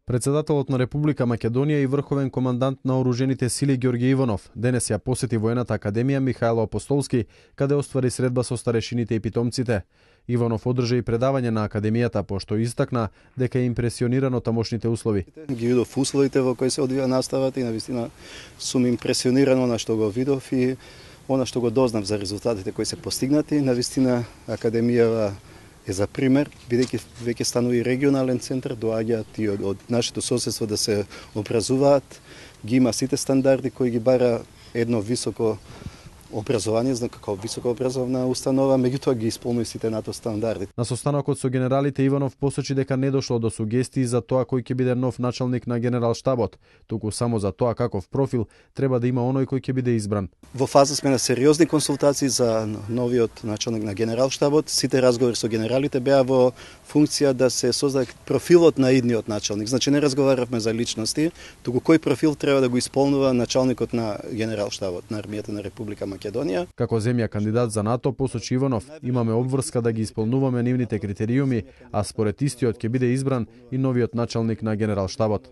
Председателот на Република Македонија и врховен командант на оружените сили Ѓорѓе Иванов денес ја посети воената академија Михајло Апостолски, каде оствари средба со старешините и питомците. Иванов одржа и предавање на академијата, пошто истакна дека е импресиониран од тамошните услови. Ги видов условите во кои се одвија наставата и навистина сум импресиониран она што го видов и она што го дознав за резултатите кои се постигнати. Навистина академијава е за пример, бидејќи веќе станува и регионален центар, доаѓаат и од нашето соседство да се образуваат, ги има сите стандарди кои ги бара едно високо образование, како високообразовна установа, меѓутоа ги исполнува сите НАТО стандарди. На состанокот со генералите Иванов посочи дека не дошло до сугестии за тоа кој ќе биде нов началник на Генералштабот, туку само за тоа каков профил треба да има оној кој ќе биде избран. Во фаза сме на сериозни консултации за новиот началник на Генералштабот. Сите разговори со генералите беа во функција да се создаде профилот на идниот началник. Значи не разговаравме за личности, туку кој профил треба да го исполнува началникот на Генералштабот на армијата на Република Македонија. Како земја кандидат за НАТО, посочи Иванов, имаме обврска да ги исполнуваме нивните критериуми, а според истиот ќе биде избран и новиот началник на Генералштабот.